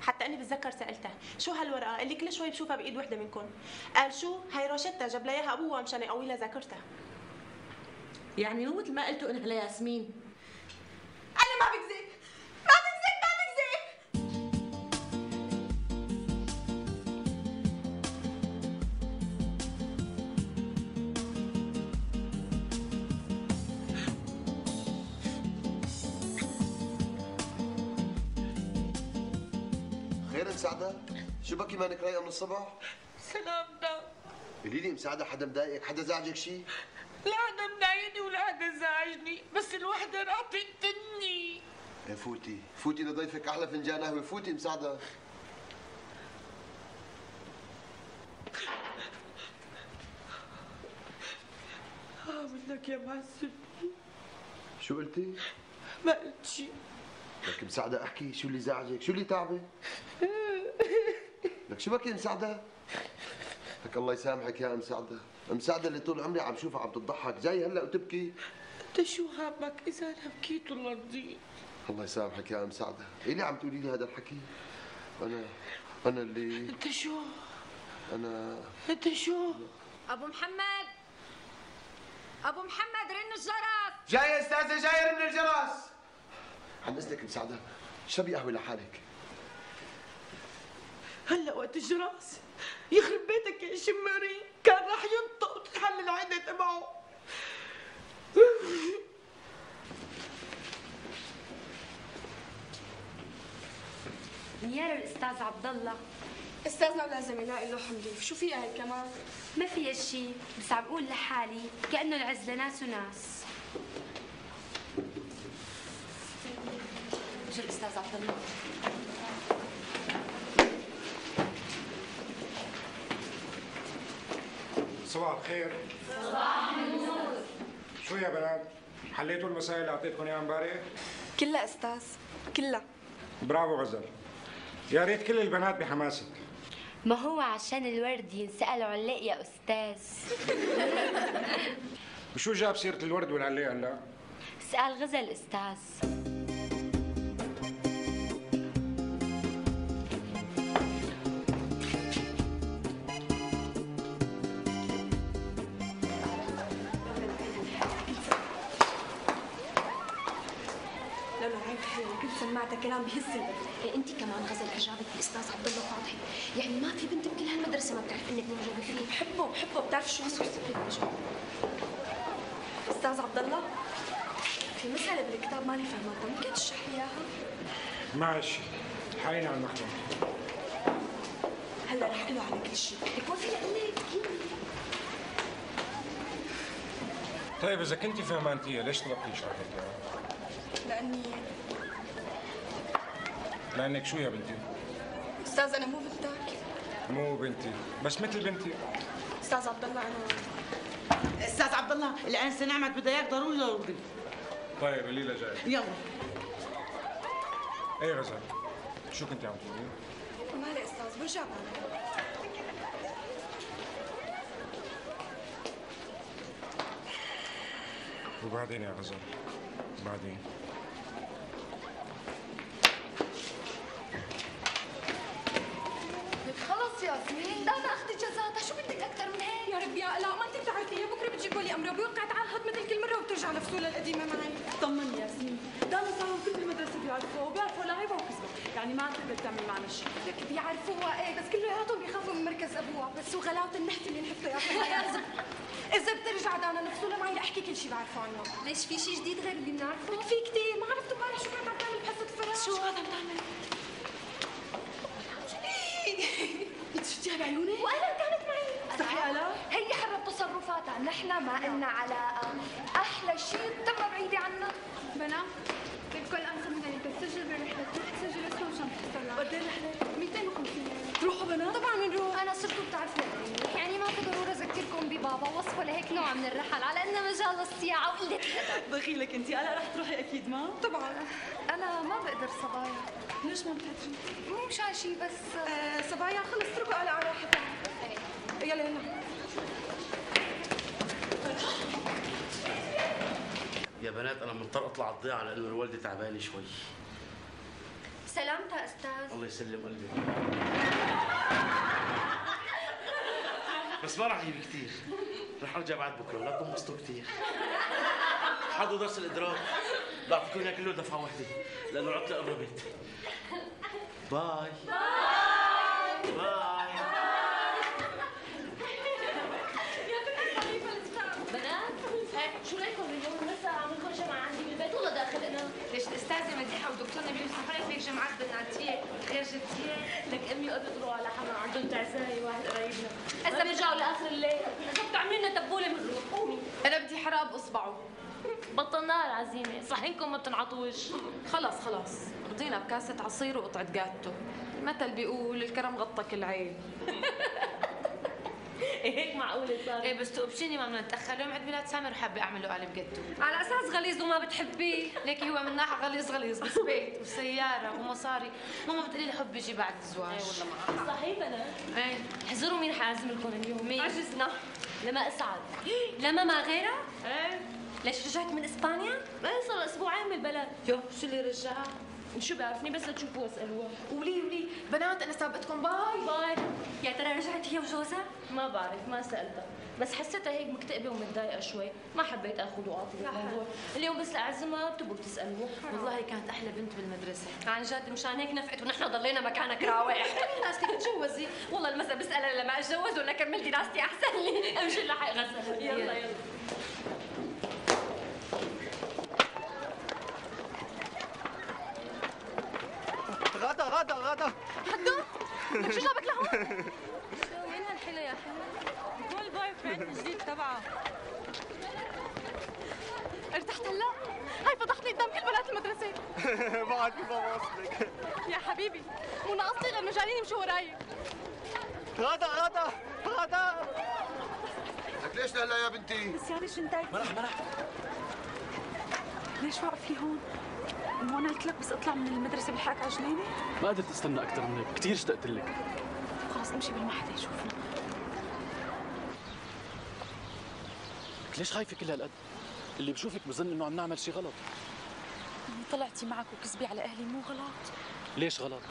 [SPEAKER 15] حتى اني بتذكر سالتها شو هالورقه اللي كل شوي بشوفها بايد وحده منكم. قال شو هي روشتها جاب لها اياها ابوها مشان يقوي لها ذاكرتها.
[SPEAKER 3] يعني مو مثل ما قلتوا انها لياسمين.
[SPEAKER 10] انا ما بكذب ما بكذب ما بكذب.
[SPEAKER 16] خير مساعدة؟ شو بكي مانك رايقة من الصبح؟
[SPEAKER 17] سلامتك.
[SPEAKER 16] قولي لي مساعدة حدا مضايقك؟ حدا زعجك شيء؟
[SPEAKER 17] لا حدا مضايقني ولا حدا زعجني، بس الوحدة راح تقتلني.
[SPEAKER 16] ايه فوتي، فوتي لضيفك أحلى فنجان قهوة، فوتي مساعدة.
[SPEAKER 17] اه بدك يا معذبني.
[SPEAKER 16] شو قلتي؟
[SPEAKER 17] ما قلت شيء.
[SPEAKER 16] لك مساعدة احكي، شو اللي زعجك؟ شو اللي تعبك؟ لك شو بكي مساعدة؟ لك الله يسامحك يا مساعدة، مساعدة اللي طول عمري عم شوفها عم تضحك، جاي هلا وتبكي؟
[SPEAKER 17] انت شو هامك اذا انا بكيت ولا رضيت؟
[SPEAKER 16] الله يسامحك يا ام سعده، ايه اللي عم تقولي لي هذا الحكي؟ انا انا اللي
[SPEAKER 17] انت شو؟
[SPEAKER 16] انا
[SPEAKER 17] انت شو؟
[SPEAKER 4] ابو محمد ابو محمد رن الجرس.
[SPEAKER 16] جاي يا استاذه، جاي رن الجرس. عن اذنك ام سعده، شربي قهوه لحالك.
[SPEAKER 17] هلا وقت الجرس؟ يخرب بيتك يا شماري، كان راح ينطق وتتحل العيدة تبعه.
[SPEAKER 3] نيار الاستاذ عبد الله.
[SPEAKER 10] استاذنا لازم يلاقي له حمليف، شو فيها هي كمان؟
[SPEAKER 3] ما فيها شيء، بس عم بقول لحالي كأنه العز لناس وناس.
[SPEAKER 12] شو الاستاذ عبد الله؟
[SPEAKER 18] صباح الخير.
[SPEAKER 10] صباح النور.
[SPEAKER 18] شو يا بنات؟ حليتوا المسائل اللي اعطيتكم اياها امبارح؟
[SPEAKER 10] كلها استاذ، كلها.
[SPEAKER 18] برافو غزل. يا ريت كل البنات بحماسك.
[SPEAKER 3] ما هو عشان الورد ينسأل علاق يا أستاذ.
[SPEAKER 18] وشو جاب سيرة الورد والعلاق هلا؟
[SPEAKER 3] سأل غزل أستاذ.
[SPEAKER 10] سمعتها كلام بهز القلب.
[SPEAKER 1] إيه انت كمان غزل اعجابك بالاستاذ عبد الله فاضي، يعني ما في بنت بكل هالمدرسه ما بتعرف انك معجبه فيه.
[SPEAKER 10] بحبه بحبه بتعرف شو استاذ عبد الله، في مسألة بالكتاب ماني فهمتها، ممكن تشرح لي اياها؟
[SPEAKER 18] ماشي، حاين على المخبر.
[SPEAKER 10] هلا رح اقول له على كل شيء.
[SPEAKER 1] لك ما في لك
[SPEAKER 18] طيب اذا كنتي فهمانتيها ليش طلبتي شرحتها؟
[SPEAKER 10] لاني
[SPEAKER 18] لانك شو يا بنتي؟
[SPEAKER 10] استاذ انا مو بنتك.
[SPEAKER 18] مو بنتي، بس مثل بنتي.
[SPEAKER 10] استاذ عبد الله انا
[SPEAKER 2] استاذ عبد الله الانسه نعمت بدها اياك ضروري ضروري.
[SPEAKER 18] طيب قولي لها جاي.
[SPEAKER 2] يلا.
[SPEAKER 18] ايه غزل، شو كنتي عم تقولي؟
[SPEAKER 10] مالي استاذ برجع بعد.
[SPEAKER 18] وبعدين يا غزل؟ بعدين
[SPEAKER 4] خلص ياسمين، ده انا اخذت جزاتها، شو بدك اكثر من هيك؟
[SPEAKER 10] يا ربي يا لا ما انت بتعرفي هي بكره بتجيبوا لي امرها وبيوقع تعهد مثل كل مره وبترجع لفصولها القديمه معي.
[SPEAKER 13] طمني ياسمين، دانا صاروا كل المدرسه بيعرفوها وبيعرفوا لعيبها وكذبها، يعني ما تقدر تعمل معنا شيء.
[SPEAKER 10] لك بيعرفوها ايه بس كلياتهم بيخافوا من مركز ابوها، بس هو غلاوه النحت اللي نحطها يا اخي. اذا اذا بترجع دانا لفصولها معي لاحكي كل شيء بعرفه عنها.
[SPEAKER 1] ليش في شيء جديد غير اللي بنعرفه؟
[SPEAKER 10] في كثير، ما عرفتوا امبارح شو كانت عم تعمل بحصه الفراغ؟
[SPEAKER 1] شو هذا عم تعمل؟
[SPEAKER 10] انت شفتيها بعيوني؟
[SPEAKER 1] وانا كانت معي.
[SPEAKER 10] صحيح الا؟
[SPEAKER 4] هي حرة تصرفاتها، نحن ما إلنا علاقة، أحلى شيء تم بعيدة عنا.
[SPEAKER 10] بنا الكل أنسى من ذلك تسجل بالرحلة، تروح تسجل اسمه وشان تحصل. قد ايه الرحلة؟ مئتين وخمسين. تروحوا بنا؟ طبعا بنروح.
[SPEAKER 4] أنا صرتوا بتعرفوا يعني ما في ضرورة أذكركم ببابا وصفه لهيك نوع من الرحل على إنه مجال الصياعة وقلة الأدب.
[SPEAKER 13] دخيلك أنت، أنا رح تروحي أكيد ما؟
[SPEAKER 10] طبعا.
[SPEAKER 4] أنا ما بقدر صبايا.
[SPEAKER 10] ليش ما بتقدري؟
[SPEAKER 4] مو مشان شيء بس
[SPEAKER 10] آه صبايا خلص اتركوا على راحتها. يلا يلا.
[SPEAKER 19] يا بنات انا مضطر اطلع الضيعه لانه الوالده تعبانه شوي.
[SPEAKER 4] سلامتها استاذ.
[SPEAKER 19] الله يسلم قلبك. بس ما راح اجيب كثير، رح ارجع بعد بكره، لا تنبسطوا كثير. حضروا درس الادراك، بعطيكم اياه كله دفعه واحده لانه العطله قربت. باي باي باي.
[SPEAKER 3] شو رايكم اليوم لسه عم نكون جمعة عندي بالبيت ولا داخل انا؟
[SPEAKER 1] ليش الاستاذه مديحه ودكتورنا بيمسحوا لك هيك جمعات بناتيه غير جديه؟
[SPEAKER 3] لك امي وابي طلعوا على حما عندهم تعزايه واحد قرايبنا، اذا بيرجعوا لاخر الليل اذا بتعملي لنا تبوله بنروح. قومي.
[SPEAKER 13] انا بدي حراب اصبعه.
[SPEAKER 3] بطلناها العزيمه، صحينكم ما بتنعطوش.
[SPEAKER 13] خلص خلص، رضينا بكاسه عصير وقطعه جاتو. المثل بيقول الكرم غطى كل عين.
[SPEAKER 3] هيك معقولة صار؟
[SPEAKER 12] ايه بس تقبشيني ما بدنا نتاخر، اليوم عيد ميلاد سامر وحابه اعمل له قالب جاتو.
[SPEAKER 1] على اساس غليظ وما بتحبيه.
[SPEAKER 12] ليكي هو من ناحيه غليظ غليظ، بس بيت وسياره ومصاري، ماما بتقولي لي حب يجي بعد الزواج.
[SPEAKER 3] ايه والله معك صحيح. انا
[SPEAKER 12] ايه
[SPEAKER 3] احذروا مين حازم لكم اليوم. مين؟
[SPEAKER 12] عجزنا.
[SPEAKER 3] لما اسعد.
[SPEAKER 1] لما ما غيرها؟
[SPEAKER 3] ايه ليش رجعت من اسبانيا؟
[SPEAKER 15] ايه صار اسبوعين بالبلد.
[SPEAKER 3] يو شو اللي رجع؟ شو بيعرفني بس لتشوفوه واسالوها.
[SPEAKER 12] ولي ولي بنات انا سابقتكم باي
[SPEAKER 3] باي. يا ترى رجعت هي وجوزها؟ ما بعرف ما سالتها، بس حسيتها هيك مكتئبه ومتضايقه شوي، ما حبيت اخذ واعطي بالموضوع. اليوم بس لاعزمها بتبقوا تسالوه.
[SPEAKER 12] والله كانت احلى بنت بالمدرسه.
[SPEAKER 3] عن جد مشان هيك نفقت ونحن ضلينا مكانك راوح.
[SPEAKER 12] كملي دراستك تتجوزي.
[SPEAKER 3] والله المسا بسالها لما اتجوز ولا كملت دراستي احسن لي. امشي لحق غسل. يلا يلا.
[SPEAKER 20] غدا غدا غدا
[SPEAKER 3] حدو لك شو جابك لهون؟ شو وين هالحلو يا حلو؟ هو البوي فريند الجديد تبعه.
[SPEAKER 15] ارتحت هلا؟ هاي فضحتني قدام كل بنات المدرسة.
[SPEAKER 20] بعد كيف ما وصلك
[SPEAKER 15] يا حبيبي مو ناقصتي غير انه جايين يمشوا وراي.
[SPEAKER 20] غدا غدا غدا
[SPEAKER 16] لك ليش لهلا يا بنتي؟
[SPEAKER 15] نسياني شنطتي.
[SPEAKER 20] مرح مرح
[SPEAKER 15] ليش واقفة هون؟ مو انا قلت لك بس اطلع من المدرسة بلحقك على جنينة؟
[SPEAKER 18] ما قدرت استنى اكثر من هيك، كثير اشتقت لك.
[SPEAKER 15] خلص امشي بال ما حدا يشوفنا.
[SPEAKER 18] لك ليش خايفه كل هالقد؟ اللي بشوفك بظن انه عم نعمل شيء غلط.
[SPEAKER 15] يعني طلعتي معك وكذبي على اهلي مو غلط؟
[SPEAKER 18] ليش غلط؟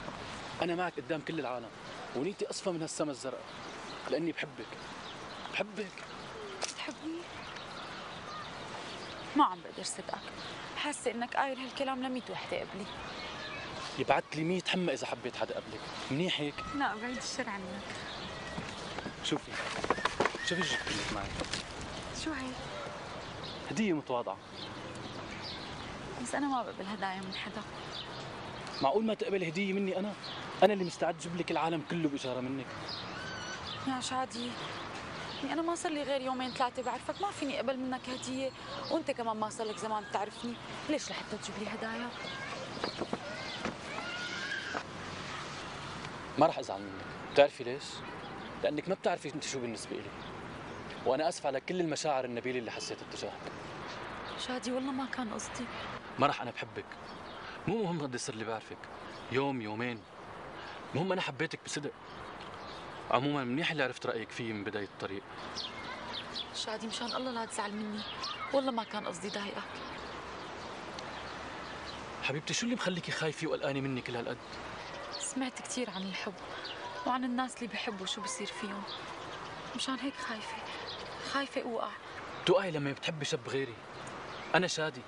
[SPEAKER 18] انا معك قدام كل العالم ونيتي اصفى من هالسما الزرقاء لاني بحبك. بحبك.
[SPEAKER 15] بتحبني؟ ما عم بقدر صدقك، حاسه انك قايل هالكلام لميت وحده قبلي.
[SPEAKER 18] يبعت لي مية حمى اذا حبيت حدا قبلك، منيح هيك؟
[SPEAKER 15] لا بعيد الشر عنك.
[SPEAKER 18] شوفي شوفي جبت لك معي.
[SPEAKER 15] شو هي؟
[SPEAKER 18] هدية متواضعة.
[SPEAKER 15] بس انا ما بقبل هدايا من حدا.
[SPEAKER 18] معقول ما تقبل هدية مني انا؟ انا اللي مستعد جيب لك العالم كله بإشارة منك.
[SPEAKER 15] يا شادي يعني انا ما صار لي غير يومين ثلاثه بعرفك، ما فيني اقبل منك هديه، وانت كمان ما صار لك زمان بتعرفني، ليش لحتى تجيب لي هدايا؟
[SPEAKER 18] ما رح ازعل منك، بتعرفي ليش؟ لانك ما بتعرفي انت شو بالنسبة لي. وانا اسف على كل المشاعر النبيلة اللي حسيتها تجاهك.
[SPEAKER 15] شادي والله ما كان قصدي.
[SPEAKER 18] ما رح انا بحبك. مو مهم قد يصير لي بعرفك، يوم يومين. المهم انا حبيتك بصدق. عموما منيح اللي عرفت رايك فيه من بدايه الطريق.
[SPEAKER 15] شادي مشان الله لا تزعل مني، والله ما كان قصدي ضايقك.
[SPEAKER 18] حبيبتي شو اللي مخليكي خايفه وقلقانه مني كل هالقد؟
[SPEAKER 15] سمعت كثير عن الحب وعن الناس اللي بحبوا شو بصير فيهم، مشان هيك خايفه خايفه اوقع.
[SPEAKER 18] توقعي لما بتحبي شاب غيري. انا شادي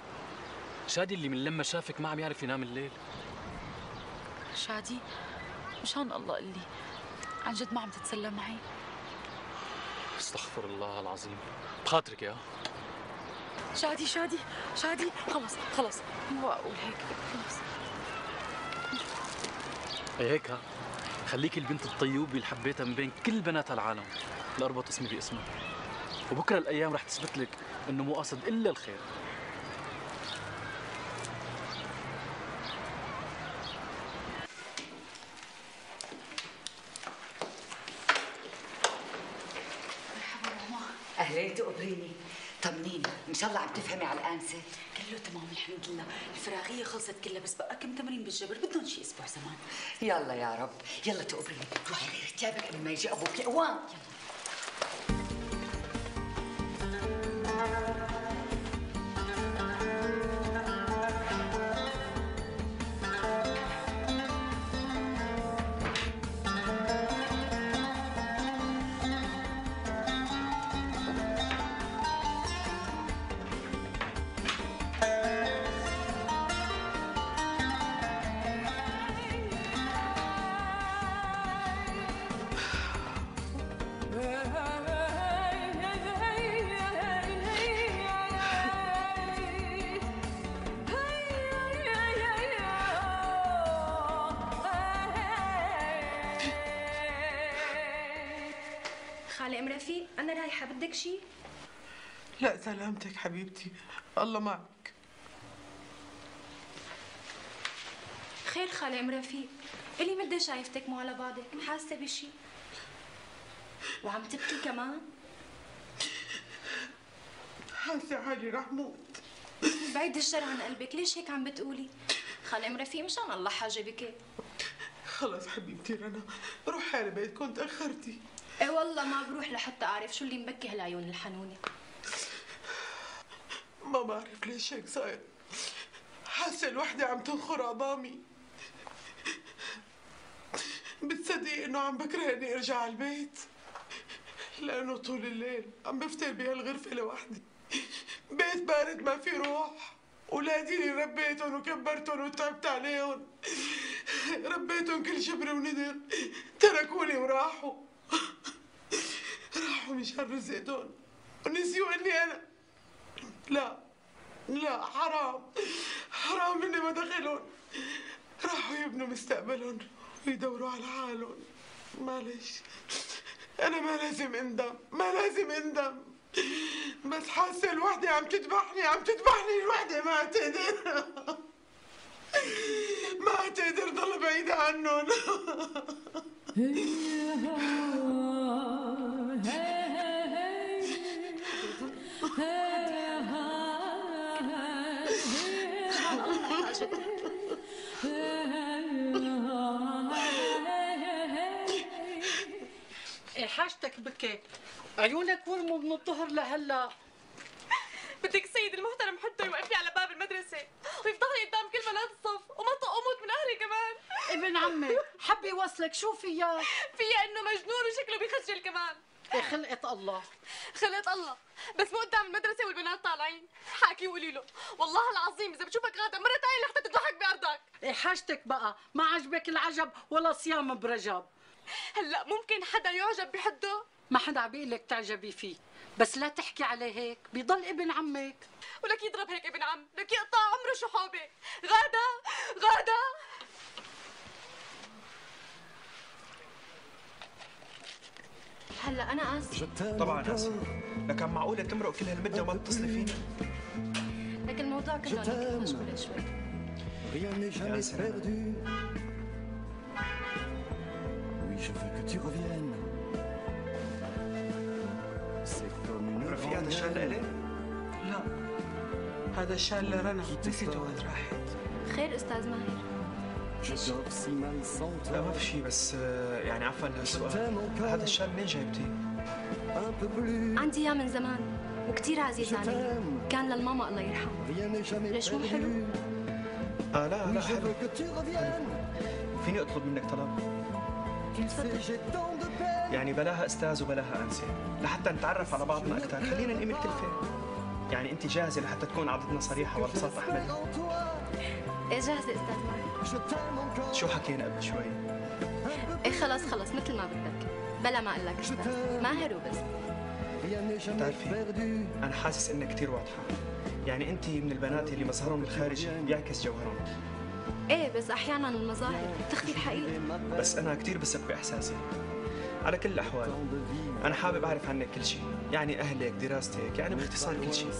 [SPEAKER 18] شادي اللي من لما شافك ما عم يعرف ينام الليل.
[SPEAKER 15] شادي مشان الله قل لي عن جد ما عم تتسلى معي؟
[SPEAKER 18] استغفر الله العظيم، بخاطرك يا
[SPEAKER 15] شادي شادي شادي خلص خلص مو اقول هيك خلص.
[SPEAKER 18] اي هيك ها، خليكي البنت الطيوبة اللي حبيتها من بين كل بنات العالم لاربط اسمي باسمها، وبكره الايام رح تثبت لك انه مو قاصد الا الخير.
[SPEAKER 2] أهلين تقبريني، طمنيني، إن شاء الله عم تفهمي على الآنسة؟
[SPEAKER 12] كله تمام الحمد لله، الفراغية خلصت كلها بس بقى كم تمرين بالجبر بدهم شي أسبوع زمان.
[SPEAKER 2] يلا يا رب، يلا تقبريني، روحي غيري ثيابك قبل ما يجي أبوك، قوام. يلا.
[SPEAKER 1] خالة ام رفيق، انا رايحه، بدك شيء؟
[SPEAKER 17] لا سلامتك حبيبتي، الله معك.
[SPEAKER 1] خير خالة ام رفيق، الي مدة شايفتك مو على بعضك، حاسه بشيء وعم تبكي كمان؟
[SPEAKER 17] حاسه حالي رح موت.
[SPEAKER 1] بعيد الشر عن قلبك، ليش هيك عم بتقولي؟ خالة ام رفيق مشان الله حاجه بك.
[SPEAKER 17] خلص حبيبتي رنا، روحي على بيتكم تاخرتي.
[SPEAKER 1] ايه والله ما بروح لحتى اعرف شو اللي مبكي هالعيون الحنونه.
[SPEAKER 21] ما بعرف ليش هيك صاير. حاسة الوحدة عم تنخر عظامي. بتصدق انه عم بكره اني ارجع على البيت، لانه طول الليل عم بفتل بهالغرفة لوحدي. بيت بارد ما في روح. اولادي اللي ربيتهم وكبرتهم وتعبت عليهم، ربيتهم كل شبر وندر، تركوني وراحوا. راحوا مشان رزقتهم ونسيوا اني انا. لا لا، حرام حرام اني ما دخلهم. راحوا يبنوا مستقبلهم ويدوروا على حالهم. معلش، انا ما لازم اندم، ما لازم اندم، بس حاسه الوحده عم تذبحني، عم تذبحني الوحده. ما تقدر ما تقدر ضل بعيده عنهم.
[SPEAKER 17] ايه حاجتك بكي؟ عيونك ورموا من الظهر لهلا.
[SPEAKER 15] بدك السيد المحترم حتى يوقف لي على باب المدرسة ويفضل لي قدام كل بنات الصف وما طق اموت من اهلي كمان.
[SPEAKER 17] ابن عمي حب يوصلك، شو فيها؟
[SPEAKER 15] فيها انه مجنون وشكله بيخجل كمان.
[SPEAKER 17] ايه خلقة الله.
[SPEAKER 15] خلقة الله، بس مو قدام المدرسة والبنات طالعين. حاكي وقولي له والله العظيم اذا بتشوفك غادا مرة تانية لحتى تضحك بارضك.
[SPEAKER 17] ايه حاجتك بقى؟ ما عجبك العجب ولا صيام برجب.
[SPEAKER 15] هلا ممكن حدا يعجب بحده؟
[SPEAKER 17] ما حدا عم بيقول لك تعجبي فيه، بس لا تحكي عليه هيك، بيضل ابن عمك.
[SPEAKER 15] ولك يضرب هيك ابن عم، لك يقطع عمره شحوبه. غادا غادا
[SPEAKER 1] هلا انا اسفه.
[SPEAKER 7] طبعا اسف، لكن معقوله تمرق كل هالمده وما تتصلي فيني؟
[SPEAKER 1] لكن الموضوع كله اني كنت مشغوله شوي.
[SPEAKER 7] Rien n'est jamais perdu.
[SPEAKER 20] Oui, je veux que tu reviennes. C'est comme une
[SPEAKER 7] رفيق هذا الشال لإلي؟
[SPEAKER 21] لا، هذا الشال لرنا، نسيته وقت راحت.
[SPEAKER 1] خير استاذ ماهر؟
[SPEAKER 7] لا ما في شيء، بس يعني عفوا لهالسؤال، هذا الشال منين جايبتيه؟
[SPEAKER 1] عندي اياه من زمان وكثير عزيز علي، كان للماما الله يرحمها. ليش مو حلو؟
[SPEAKER 7] اه لا لا حلو. فيني اطلب منك طلب؟ يعني بلاها استاذ وبلاها انسه، لحتى نتعرف على بعضنا اكثر، خلينا نقيم الكلفه. يعني انت جاهزه لحتى تكون عضتنا صريحه وبساطه احمد؟
[SPEAKER 1] ايه جاهزه استاذ ماهر.
[SPEAKER 7] شو حكينا قبل شوي؟
[SPEAKER 1] ايه خلص خلص مثل ما بدك، بلا ما اقول لك استاذ ماهر وبس.
[SPEAKER 7] بتعرفي انا حاسس انها كثير واضحه، يعني انت من البنات اللي مظهرهم الخارجي بيعكس جوهرهم.
[SPEAKER 1] ايه بس احيانا المظاهر تخفي الحقيقه.
[SPEAKER 7] بس انا كثير بثق باحساسي. على كل الاحوال انا حابب اعرف عنك كل شيء، يعني اهلك، دراستك، يعني باختصار كل شيء.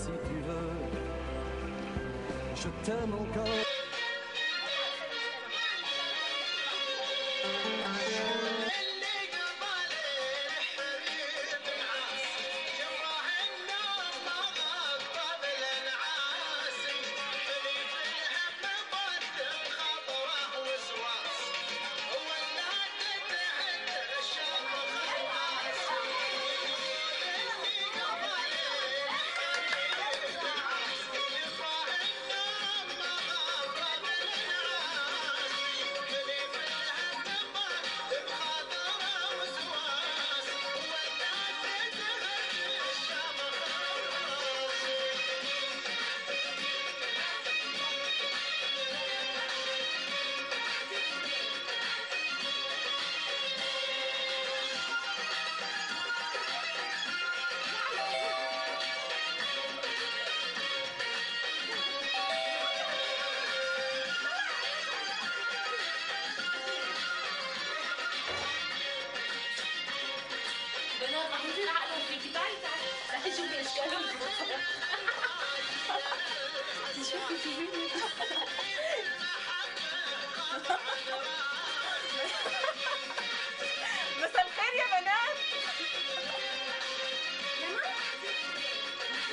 [SPEAKER 15] مساء الخير يا بنات.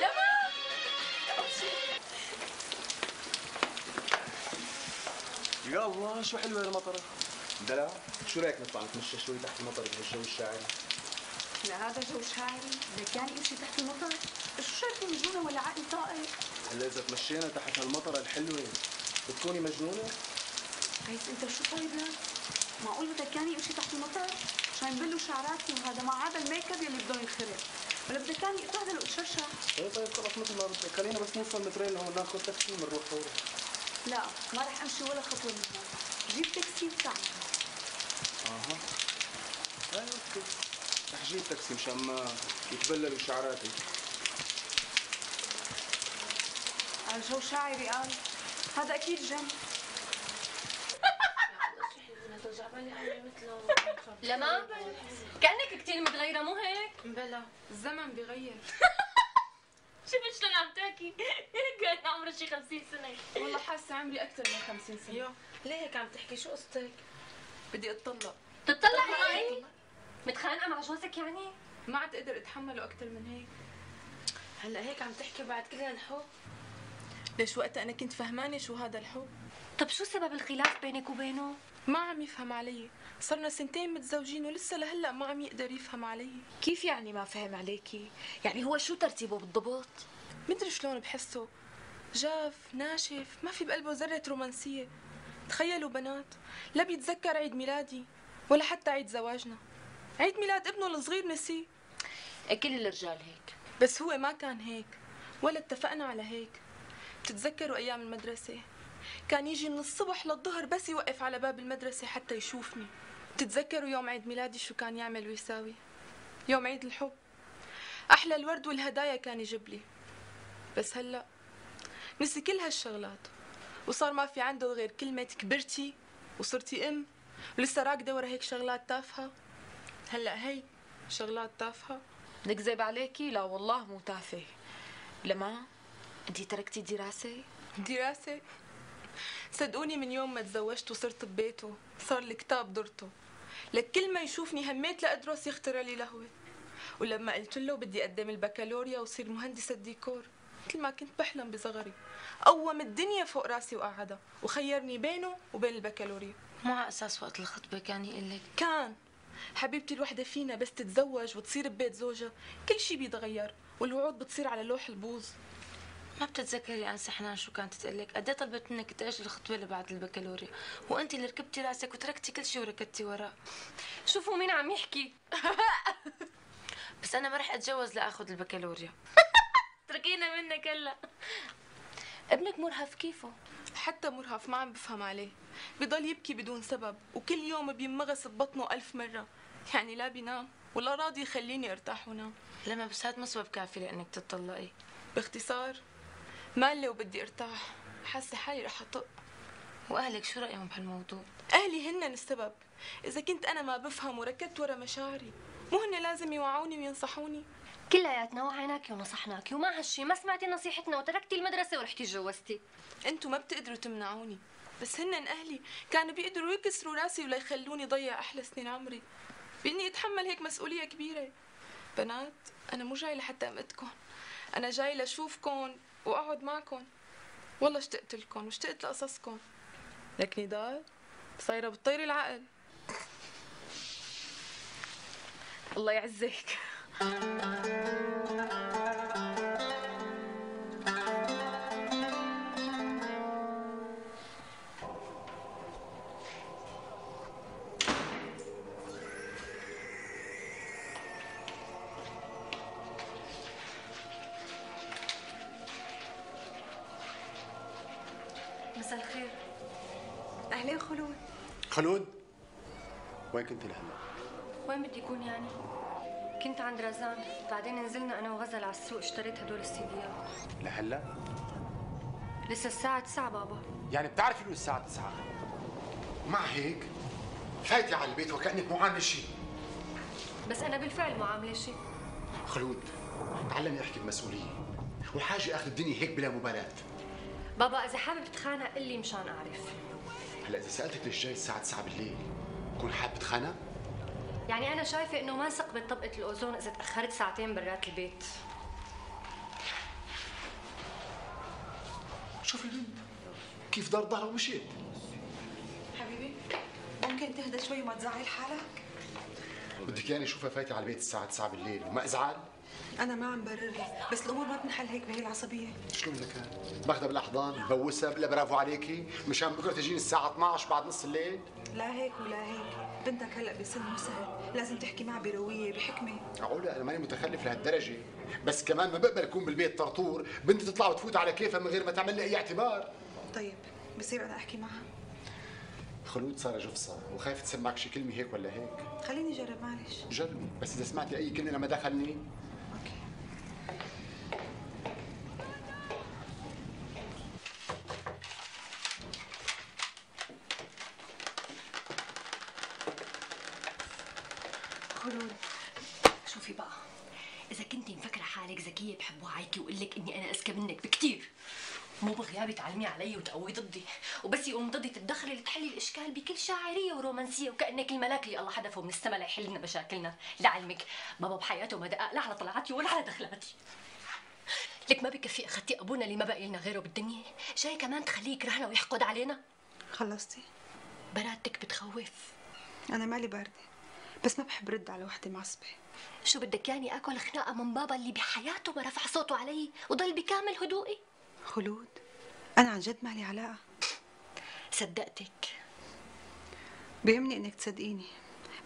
[SPEAKER 15] لما لما
[SPEAKER 20] يا الله شو حلوه المطره. دلع، شو رايك نطلع نتمشى شوي تحت المطر بهالجو الشاعري؟
[SPEAKER 10] لا هذا جو شاعري، لك يعني امشي تحت المطر؟ شو شايفين جنة ولا عقل طائر؟
[SPEAKER 20] هلا اذا تمشينا تحت هالمطره الحلوه بتكوني مجنونه؟
[SPEAKER 10] عايز انت شو طيب؟ معقول بدك يعني امشي تحت المطر؟ عشان يبلوا شعراتي وهذا مع هذا الميك اب يلي بدهم ينخرب، ولا بدك يعني اتبهدل واتشرشح؟
[SPEAKER 20] ايه طيب خلص مثل ما بدك، خلينا بس نوصل مترين لهون ناخذ تاكسي ونروح فورا.
[SPEAKER 10] لا ما رح امشي ولا خطوه من هون، جيب تاكسي وتعال.
[SPEAKER 20] اها ايه اوكي، رح جيب تاكسي مشان ما يتبللوا شعراتي.
[SPEAKER 10] على جو شاعري قال، هذا اكيد جن.
[SPEAKER 1] لما كأنك كتير متغيرة مو هيك؟
[SPEAKER 12] بلا الزمن بيغير.
[SPEAKER 1] شوفي شلون عم تحكي، كان عمرها شي خمسين سنة.
[SPEAKER 12] والله حاسة عمري أكثر من خمسين سنة. يو ليه هيك عم تحكي؟ شو قصتك؟ بدي أتطلق.
[SPEAKER 1] تتطلقي معي؟ متخانقة مع جوزك يعني؟
[SPEAKER 12] ما عاد أقدر أتحمله أكثر من هيك. هلا هيك عم تحكي بعد كل هالحب؟ ليش وقتها أنا كنت فهمانة شو هذا الحب؟
[SPEAKER 1] طب شو سبب الخلاف بينك وبينه؟
[SPEAKER 12] ما عم يفهم علي، صرنا سنتين متزوجين ولسه لهلا ما عم يقدر يفهم علي.
[SPEAKER 3] كيف يعني ما فهم عليكي؟ يعني هو شو ترتيبه بالضبط؟
[SPEAKER 12] مدري شلون بحسه، جاف ناشف ما في بقلبه ذرة رومانسية. تخيلوا بنات، لا بيتذكر عيد ميلادي ولا حتى عيد زواجنا، عيد ميلاد ابنه الصغير نسيه.
[SPEAKER 3] كل الرجال هيك،
[SPEAKER 12] بس هو ما كان هيك ولا اتفقنا على هيك. بتتذكروا أيام المدرسة كان يجي من الصبح للظهر بس يوقف على باب المدرسة حتى يشوفني. بتتذكروا يوم عيد ميلادي شو كان يعمل ويساوي؟ يوم عيد الحب أحلى الورد والهدايا كان يجيب لي. بس هلأ نسي كل هالشغلات وصار ما في عنده غير كلمة كبرتي وصرتي أم، ولسه راكدة ورا هيك شغلات تافهة. هلأ هي شغلات تافهة.
[SPEAKER 3] نكذب عليكي؟ لا والله مو تافه. لما انتي تركتي دراسة؟
[SPEAKER 12] دراسة؟ صدقوني من يوم ما تزوجت وصرت ببيته صار الكتاب درته، لك كل ما يشوفني هميت لأدرس يخترع لي لهوة. ولما قلت له بدي أقدم البكالوريا وصير مهندسة ديكور مثل ما كنت بحلم بصغري، قوم الدنيا فوق راسي وقعدها وخيرني بينه وبين البكالوريا. مو على أساس وقت الخطبة كان يقول لك؟ كان حبيبتي الوحدة فينا بس تتزوج وتصير ببيت زوجها كل شي بيتغير والوعود بتصير على لوح البوظ. ما بتتذكري انسة حنان شو كانت تقلك؟ قد ايه طلبت منك تأجلي الخطبة اللي بعد البكالوريا وانت اللي ركبتي راسك وتركتي كل شيء وركضتي وراه.
[SPEAKER 1] شوفوا مين عم يحكي.
[SPEAKER 12] بس انا ما رح اتجوز لاخذ البكالوريا.
[SPEAKER 1] تركينا منك هلا. ابنك مرهف كيفه؟
[SPEAKER 12] حتى مرهف ما عم بفهم عليه، بضل يبكي بدون سبب وكل يوم بينمغص ببطنه ألف مرة، يعني لا بينام ولا راضي يخليني ارتاح ونام. لما بس هاد مو سبب كافي لانك تطلقي. باختصار مالي وبدي ارتاح، حاسه حالي رح اطق. واهلك شو رايهم بهالموضوع؟ اهلي هن السبب، اذا كنت انا ما بفهم وركضت ورا مشاعري مو هن لازم يوعوني وينصحوني؟
[SPEAKER 1] كلياتنا وعيناكي ونصحناكي ومع هالشي ما سمعتي نصيحتنا وتركتي المدرسه ورحتي تجوزتي.
[SPEAKER 12] انتوا ما بتقدروا تمنعوني، بس هن اهلي كانوا بيقدروا يكسروا راسي ولا يخلوني ضيع احلى سنين عمري باني اتحمل هيك مسؤوليه كبيره. بنات انا مو جاي لحتى امدكم، انا جاي لاشوفكم واقعد معكم. والله اشتقت لكم واشتقت لقصصكم، لك نضال صايره بتطيري العقل. الله يعزك.
[SPEAKER 1] مساء الخير.
[SPEAKER 10] اهلين خلود.
[SPEAKER 9] خلود؟ وين كنت لهلا؟
[SPEAKER 1] وين بدي اكون يعني؟ كنت عند رزان، بعدين نزلنا انا وغزل على السوق اشتريت هدول السيديات.
[SPEAKER 9] لهلا؟
[SPEAKER 1] لسه الساعة تسعة بابا.
[SPEAKER 9] يعني بتعرفي انه الساعة تسعة؟ ومع هيك فايتي على البيت وكأنك مو عاملة شيء.
[SPEAKER 1] بس أنا بالفعل مو عاملة شيء.
[SPEAKER 9] خلود تعلمي احكي بمسؤولية، وحاجة اخذ الدنيا هيك بلا مبالاة.
[SPEAKER 1] بابا إذا حابب تتخانق قل لي مشان أعرف.
[SPEAKER 9] هلا إذا سألتك ليش جاي الساعة تسعة بالليل، بكون حابب تتخانق؟
[SPEAKER 1] يعني أنا شايفة إنه ما ثقبت طبقة الأوزون إذا تأخرت ساعتين برات البيت.
[SPEAKER 9] شوفي البنت كيف دار ظهرها ومشيت.
[SPEAKER 10] حبيبي ممكن تهدى شوي وما تزعل حالك؟
[SPEAKER 9] بدك يعني اشوفها فايتة على البيت الساعة تسعة بالليل وما ازعل؟
[SPEAKER 13] انا ما عم برر لك، بس الامور ما بتنحل هيك بهي العصبيه.
[SPEAKER 9] شو من لك باخذها بالاحضان ببوسها بقول برافو عليكي مشان بكره تجيني الساعه اثنعش بعد نص الليل.
[SPEAKER 13] لا هيك ولا هيك، بنتك هلا بسن مو سهل، لازم تحكي معها برويه بحكمه.
[SPEAKER 9] معقوله انا ماني متخلف لهالدرجه، بس كمان ما بقبل اكون بالبيت طرطور بنتي تطلع وتفوت على كيفها من غير ما تعمل لي اي اعتبار.
[SPEAKER 13] طيب بصير انا احكي معها؟
[SPEAKER 9] خلود صار جفصه وخايف تسمعك شي كلمه هيك ولا هيك.
[SPEAKER 13] خليني اجرب معلش.
[SPEAKER 9] جربي، بس اذا سمعتي اي كلمه لما دخلني.
[SPEAKER 13] اوكي.
[SPEAKER 1] خلود شوفي بقى، إذا كنتي مفكرة حالك ذكية بحب وعيكي وأقول لك إني أنا أذكى منك بكتير، مو بغيابي تعلمي علي وتقوي ضدي، وبس يقوم ضدي تتدخلي لتحلي الاشكال بكل شاعريه ورومانسيه وكانك الملاك اللي الله حدفه من السما ليحل لنا مشاكلنا. لعلمك بابا بحياته ما دقق لا على طلعاتي ولا على دخلاتي. لك ما بكفي اخذتي ابونا اللي ما بقي لنا غيره بالدنيا، جاي كمان تخليه يكرهنا ويحقد علينا؟
[SPEAKER 13] خلصتي؟
[SPEAKER 1] برادتك بتخوف.
[SPEAKER 13] انا مالي بارده، بس ما بحب رد على وحده معصبه.
[SPEAKER 1] شو بدك يعني اكل خناقه من بابا اللي بحياته ما رفع صوته علي وضل بكامل هدوئي؟
[SPEAKER 13] خلود أنا عن جد مالي علاقة.
[SPEAKER 1] صدقتك.
[SPEAKER 13] بيهمني إنك تصدقيني،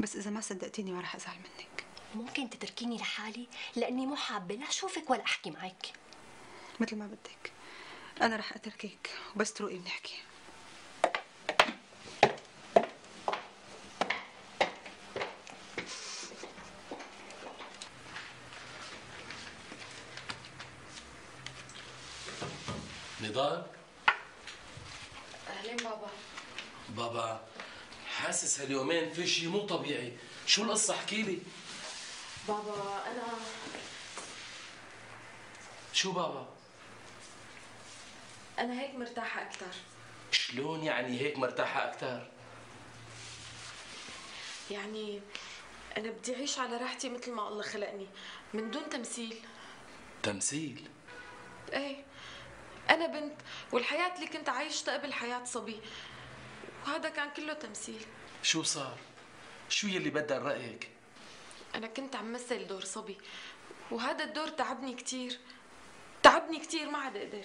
[SPEAKER 13] بس إذا ما صدقتيني ما رح أزعل منك.
[SPEAKER 1] ممكن تتركيني لحالي لأني مو حابة لا أشوفك ولا أحكي معك.
[SPEAKER 13] مثل ما بدك، أنا رح أتركك وبس تروقي بنحكي.
[SPEAKER 6] نضال؟
[SPEAKER 12] اهلين بابا.
[SPEAKER 6] بابا حاسس هاليومين في شيء مو طبيعي، شو القصة احكي لي؟
[SPEAKER 12] بابا انا
[SPEAKER 6] شو بابا؟
[SPEAKER 12] انا هيك مرتاحة اكثر.
[SPEAKER 6] شلون يعني هيك مرتاحة اكثر؟
[SPEAKER 12] يعني انا بدي اعيش على راحتي مثل ما الله خلقني، من دون تمثيل.
[SPEAKER 6] تمثيل؟
[SPEAKER 12] ايه، أنا بنت والحياة اللي كنت عايشتها قبل حياة صبي، وهذا كان كله تمثيل.
[SPEAKER 6] شو صار؟ شو يلي بدل رأيك؟
[SPEAKER 12] أنا كنت عم مثل دور صبي، وهذا الدور تعبني كتير، تعبني كتير ما عاد أقدر.